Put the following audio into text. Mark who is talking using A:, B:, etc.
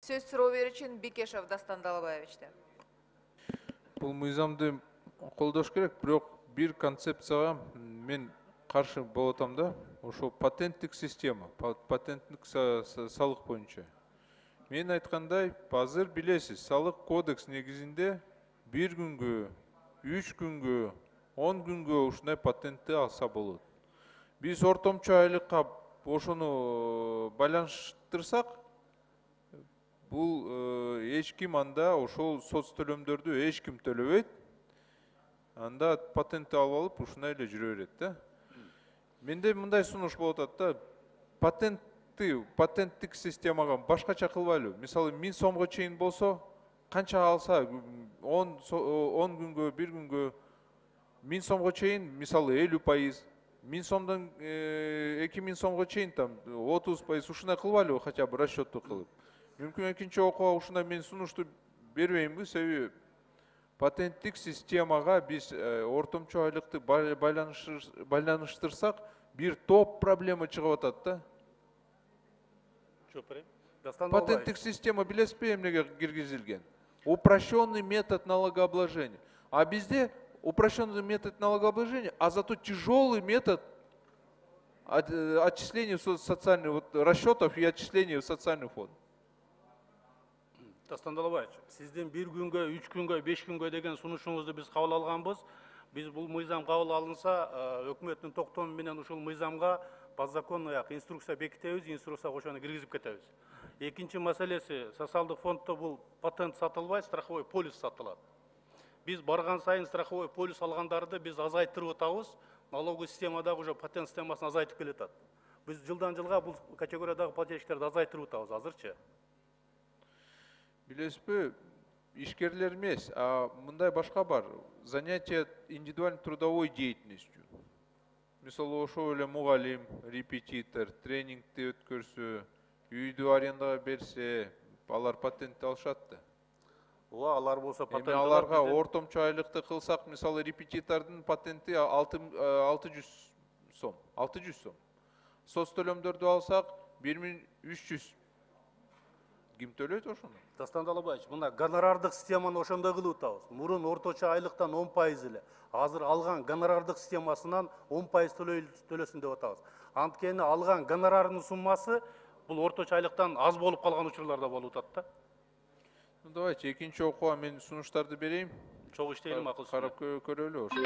A: Сөз суроо берүүчү Бекешев Дастан Далабаевичтен.
B: Бул мыйзамды колдош керек, бирок бир концепцияга мен каршы болуп атам да. Ошол патенттик система, патенттик салык боюнча. Мен айткандай, азыр билесиз, салык кодекс негизинде 1 күнгө, 3 күнгө, 10 күнгө ушундай патентти алса болот. Биз ортомчу айлыкка ошону байланыштырсак, бул эч ким анда ошол соц төлөмдөрдү эч ким төлөбөйт. Анда патентти алып алып ушундай эле жүрө берет да. Менде мындай сунуш болуп атат да. Патенттик системага башкача кылбайлы. Мисалы 1000 сомго чейин болсо, канча алса 10 күнгө, 1 күнгө 1000 сомго чейин, мисалы 50%, 1000 сомдон 2000 сомго чейин там 30% ушундай кылбайлы, хотя бы расчетту кылып. Мүмкүн экинчи окууга ушундай мен сунушту бербеймби, себеби патенттик системага биз ортомчу айлыкты байланыштырсак, бир топ проблема чыгып атат да. Патенттик система билесизби эмнеге киргизилген? Упрощенный метод налогообложения. А bizde упрощенный метод налогообложения, а зато тяжелый метод отчисления социальных расчетов и отчисления в социальный фонд.
C: Дастан Далабаевич, сиздин 1 күнгө, 3 күнгө, 5 күнгө деген сунушуңузду биз кабыл алганбыз. Биз бул мыйзам кабыл алынса, өкмөттүн токтому менен ушул мыйзамга подзаконный инструкция бекитебиз, инструкция ошону киргизип кетебиз. Экинчи маселеси, социалдык фонддо бул патент сатылбайт, страховой полис сатылат. Биз барган сайын страховой полис алгандарды биз азайттырып атабыз, налоговый системадагы уже патент системасын азайтып келатат. Биз жылдан жылга бул категориядагы плательщиктерди азайттырып атабыз азырчы.
B: Билесизби, ишкерлер эмес, а мындай башка бар. Занятие индивидуальной трудовой деятельностью. Мисалы, ошол эле мугалим, репетитор, тренингти өткөрсө, үйдү арендага берсе, алар патентти алышат да.
C: Ооба, алар болсо патент
B: аларга ортомчу айлыкты кылсак, мисалы, репетитордун патенти 600 сом. 600 сом. Соц төлөмдөрдү алсак 1300. Ким төлөйт ошону?
C: Дастан Далабаевич, мына гонорардык системаны ошондой кылып атабыз. Мурун орточо айлыктан 10% эле. Азыр алган гонорардык системасынан 10% төлөсүн деп атабыз. Анткени алган гонорардын суммасы бул орточо айлыктан аз болуп калган учурлар да болуп атат да.
B: Давайте экинчи окууга мен сунуштарды берейин.
C: Чогуу иштейлим, акыл
B: карап көрөлү ошо.